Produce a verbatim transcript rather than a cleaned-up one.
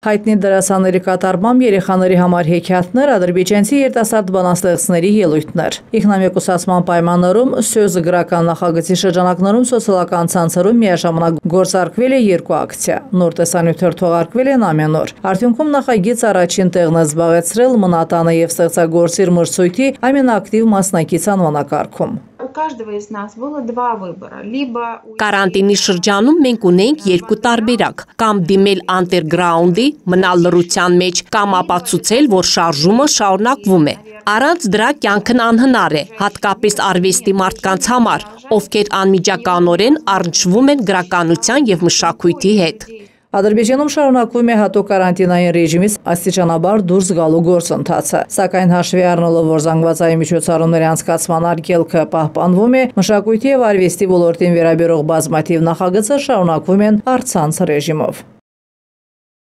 Հայտնի դերասանների կատարմամբ երեխաների համար հեքիաթներ, ադրբեջանցի երիտասարդ բանաստեղծների ելույթներ։ Ինքնամեկուսացման պայմաններում Սյոզը գրական նախագծի շրջանակներում սոցիալական ցանցերում միաժամանակ գործարկվել է երկու ակցիա։ Նոր տեսանյութեր թողարկվել են ամեն օր։ Արդյունքում նախագիծ առաջին տեղն է զբաղեցրել Մնատանը եւ ստեղծագործիր մրցույթի ամենաակտիվ մասնակից անվանակարգում։ Կարանտինի շրջանում մենք ունենք երկու տարբերակ՝ կամ դիմել անդերգրաունդի, մնալ լռության մեջ, կամ ապացուցել, որ շարժումը շարունակվում է։ Առանց դրա կյանքն անհնար է, հատկապես արվեստի մարդկանց համար, ովքեր անմիջականորեն առնչվում են գրականության եւ մշակույթի հետ։ Ադրբեջանում շարունակվում է հատուկ կարանտինային ռեժիմից աստիճանաբար դուրս գալու գործընթացը, սակայն հաշվի առնելով, որ զանգվածային միջոցառումների անցկացման արգելքը պահպանվում է, մշակույթի եւ արվեստի ոլորտին վերաբերող բազմաթիվ նախագծեր շարունակվում են առցանց ռեժիմով։